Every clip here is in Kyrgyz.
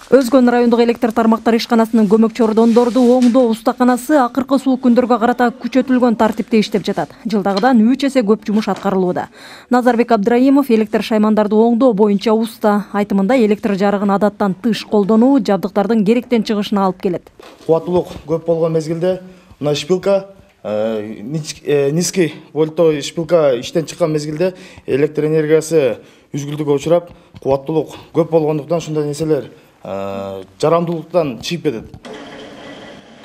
Өзгөн райондук электр тармактары ишканасынын көмөкчү ордондорду оңдоо устаканасы акыркы суук күндөргө карата күчөтүлгөн тартипте иштеп жатат. Жылдагыдан 3 эсе көп жумуш аткарылууда. Назарбек Абдраимов электр шаймандарды оңдоо боюнча уста. Айтымында электр жарыгын адаттан тыш колдонуу жабдыктардын керектен чыгышына алып келет. Кубаттуулук көп болгон мезгилде мына шпилка низкий вольттуу шпилка иштен чыккан мезгилде электр энергиясы үзгүлтүүгө учурап, кубаттуулук көп болгондуктан ушундай нерселер жарамдуулуктан чыгып кетет.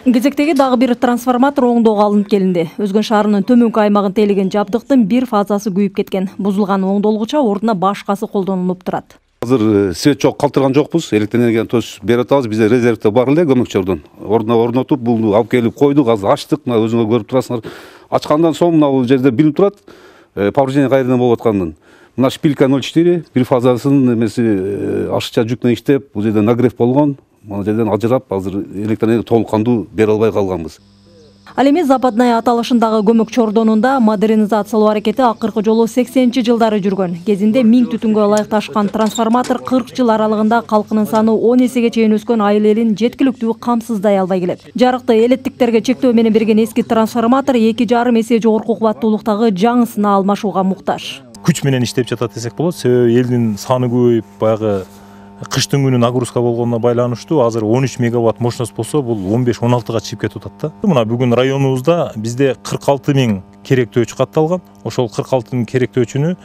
Кезектеги дагы бир трансформатор оңдоого алынып келинди. Өзгөн шаарынын төмөнкү аймагын тейлеген жабдыктын бир фазасы күйүп кеткен. Бузулган оңдолгуча ордуна башкасы колдонулуп турат. Азыр свет жок, калтырган жокпуз. Электр энергияны төз берип атабыз. Бизде резервде бар эле көмөкчү ордуна орнотуп, бул алып келип койдук. Азыр ачтык. Мына өзүңөр көрүп турасыңар. Ачкандан соң мына бул жерде билип турат. Повреждение кайерден болуп атканын. Мына шпилька 0,4, бир фазасын эмеси ашыкча жүк менен иштеп, бул жерде нагрев болгон. Мына жерден ажырап, азыр электр энергия толук кандуу бере албай калганбыз. Ал эми Западная аталышындагы көмөкчү ордонунда модернизациялоо аракети акыркы жолу 80-жылдары жүргөн. Кезинде 1000 түтүнгө ылайыкташкан трансформатор 40 жыл аралыгында калкынын саны 10 эсеге чейин өскөн айыл элин жеткиликтүү камсыздай албай келет. Жарыкты элеттиктерге чектөө менен берген эски трансформатор 2,5 эсе жогорку кубаттуулуктагы жаңысына алмашууга муктаж. Күч менен иштеп жатат десек болот. Себеби элдин саны көбөйүп, баягы кыштын күнү нагрузка болгонуна байланыштуу азыр 13 мегаватт мощность болсо, бул 15-16га чыгып кетип атат да. Мына бүгүн районубузда бизде 46 000 керектөөчү катталган. Ошол 46 000 керектөөчүнү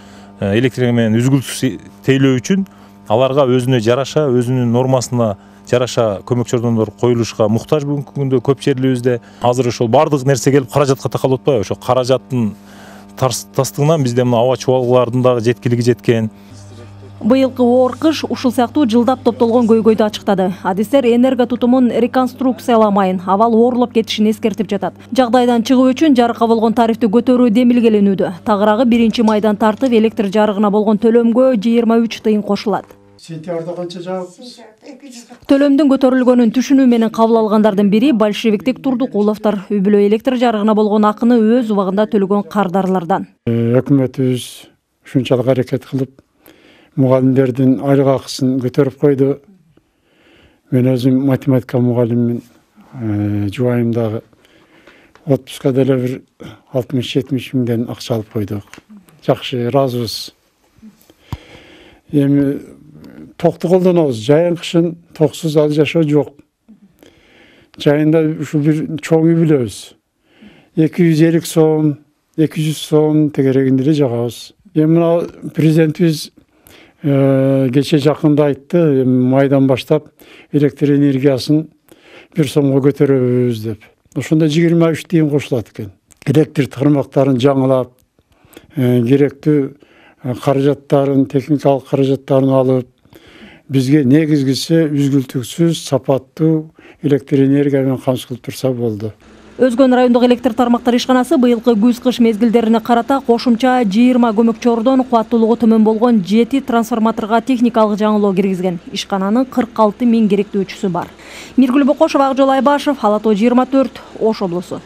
электр менен үзгүлтүсүз тейлөө үчүн аларга өзүнө жараша, өзүнүн нормасына жараша көмөкчү ордондор коюлушка муктаж бүгүнкү күндө көп жерлерибизде. Азыр ошол бардык нерсе келип каражатка такалып атпайбы? Ошо каражаттын тастыгынан бизде мына аба чубалгалардын дагы жеткилиги жеткен. Быйылкы оор кыш ушул сыяктуу жылдап топтолгон көйгөйдү ачыктады. Адистер энерго тутумун реконструкцияламайын, абал оорлоп кетишин эскертип жатат. Жагдайдан чыгуу үчүн жарыкка болгон тарифти көтөрүү демилгеленүүдө. Тагыраагы 1-майдан тартып электр жарыгына болгон төлөмгө 23 тыйын кошулат. Сентябрда канча жабыппыз? Төлөмдүн көтөрүлгөнүн түшүнүү менен кабыл алгандардын бири большевиктик Турдукуловдор. Үй-бүлө электр жарыгына болгон акыны өз убагында төлөгөн кардарлардан. Өкмөтүбүз ушунчалык аракет кылып, мугалимдердин айлык акысын көтөрүп койду. Мен өзүм математика мугалиммин. Жубайым дагы отпуска деле бир 60-70 миңден акча алып койдук. Жакшы, ыраазыбыз. Эми токту колдонобуз. Жайын кышын токсуз ал жашоо жок. Жайында ушу бир чоң үй билебиз. 250 сом, 200 сом тегерегинде эле жагабыз. Эми мына президентибиз кече жакында айтты, майдан баштап электр энергиясын 1 сомго көтөрөбүз деп. Ошондо 23 тыйын кошулат экен. Электр тармактарын жаңылап, керектүү каражаттарын, техникалык каражаттарын алып, бизге негизгиси үзгүлтүксүз, сапаттуу электр энергия менен камсыз кылып турса болду. Өзгөн райондук электр тармактары ишканасы быйылкы күз-кыш мезгилдерине карата кошумча 20 көмөкчү ордон, кубаттуулугу төмөн болгон 7 трансформаторго техникалык жаңылоо киргизген. Ишкананын 46 000 керектөөчүсү бар. Миргүл Бокошова, Акжол Айбашев, Ала Тоо 24, Ош облусу.